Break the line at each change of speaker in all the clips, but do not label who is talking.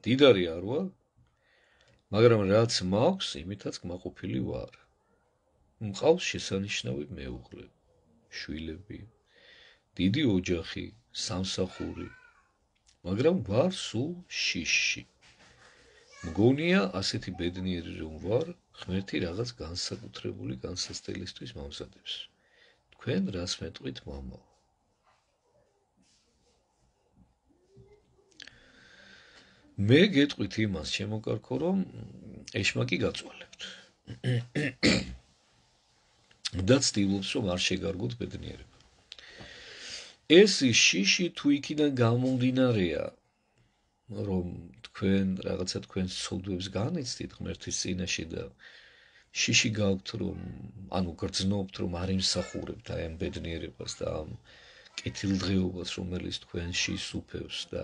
დიდარი არ ვარ, მაგრამ რაც მაქვს, იმითაც კმაყოფილი ვარ. მყავს შესანიშნავი მეუღლე, შვილები, დიდი ოჯახი, სამსახური, მაგრამ ვარ სულ შიში. მგონია ასეთი ბედნიერი რომ ვარ, ღმერთი რაღაც განსაკუთრებული განსასწრებისთვის მომზადებს. თქვენ რას მეტყვით, მამა? მე გეტყვით იმას, შემოკარქო, რომ ეშმაკი გაწვალებთ. და ცდილობს, რომ არ შეგარგოთ ბედნიერება. ეს შიში თუ იქიდან გამომდინარეა, რომ თქვენ რაღაცა თქვენს ცოდვებს განიცდით ღმერთის წინაშე და შიში გაქვთ, რომ ანუ გრძნობთ, რომ არ იმსახურებთ აი ამ ბედნიერებას და ამ კეთილდღეობას, რომელიც თქვენში სუფევს და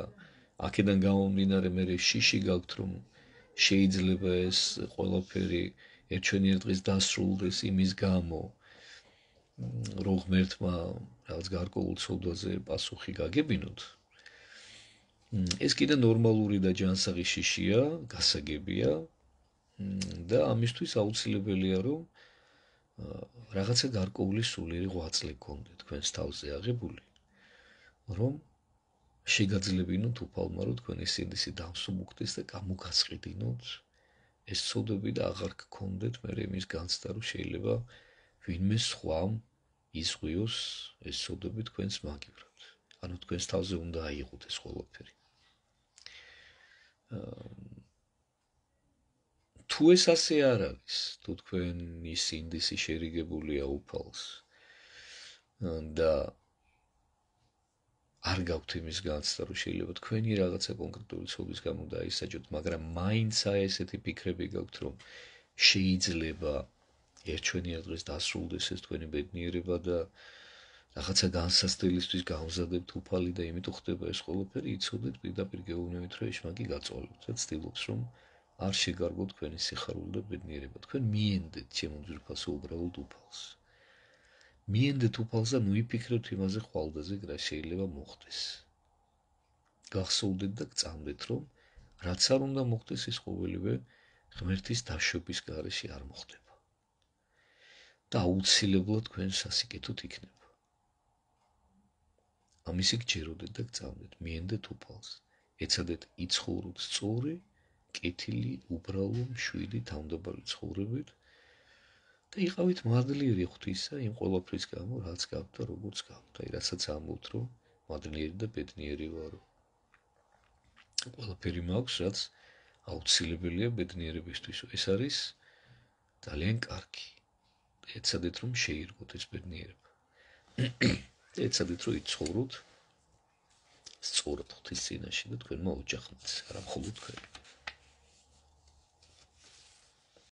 აქედან გამომდინარე მე შიში გაქვთ, რომ შეიძლება ეს ყველაფერი ერთჩვენიერ დღეს დასრულდეს იმის გამო, რომ ღმერთმა რაღაც გარკვეულ ცოდვაზე პასუხი გაგებინოთ. ეს კიდე ნორმალური და ჯანსაღი შიშია, გასაგებია და ამისთვის აუცილებელია, რომ რაღაცა გარკვეული სულიერი ღვაწლი გქონდეთ თქვენს თავზე აღებული, რომ შეგაძლებინოთ უფალმა, რომ თქვენი სინდისი დამსუბუქდეს და გამოგასყიდინოთ ეს ცოდვები და აღარ გქონდეთ მე იმის განცდა, რომ შეიძლება ვინმე სხვამ იზღვიოს ეს ცოდვები თქვენს მაგივრად. ანუ თქვენს თავზე უნდა აიღოთ ეს ყველაფერი. თუ ეს ასე არ არის, თუ თქვენი სინდისი შერიგებულია უფალს და არ გაქვთ იმის განცდა, რომ შეიძლება თქვენი რაღაცა კონკრეტული ცოდვის გამო დაისაჯოთ, მაგრამ მაინც ესეთი ფიქრები გაქვთ, რომ შეიძლება ერთჩვენიერ დღეს დასრულდეს ეს თქვენი ბედნიერება და რაღაცა განსასწრებისთვის გამზადებთ უფალი და იმიტომ ხდება ეს ყველაფერი, იცოდეთ პირდაპირ გეუბნებით, რომ ეშმაკი გაწოლოთ და ცდილობს, რომ არ შეგარგოთ თქვენი სიხარული და ბედნიერება. თქვენ მიენდეთ ჩემო ძვირფასო უბრალოდ უფალს. მიენდეთ უფალს და ნუიფიქრებთ იმაზე ხვალდაზე, რა შეიძლება მოხდეს. გახსოვდეთ და გწამდეთ, რომ რაც არ უნდა მოხდეს, ის ყოველივე ღმერთის დაშვების გარეშე არ მოხდება. და აუცილებლად თქვენ სასიკეთოდ იქნება. ამისი გჯეროდეთ და გწამდეთ, მიენდეთ უფალს, ეცადეთ იცხოვროთ სწორი, კეთილი, უბრალო, მშვიდი, თავმდაბალი ცხოვრებით და იყავით მადლიერი ღვთისა იმ ყველაფრის გამო, რაც გაქვთ და როგორც გაქვთ. აი, რასაც ამბობთ, რომ მადლიერი და ბედნიერი ვარ. ყველაფერი მაქვს, რაც აუცილებელია ბედნიერებისთვის. ეს არის ძალიან კარგი. ეცადეთ, რომ შეირგოთ ეს ბედნიერება. ეცადეთ, რომ იცხოვროთ სწორად ღვთის წინაშე და თქვენმა ოჯახმაც, არა მხოლოდ თქვენ.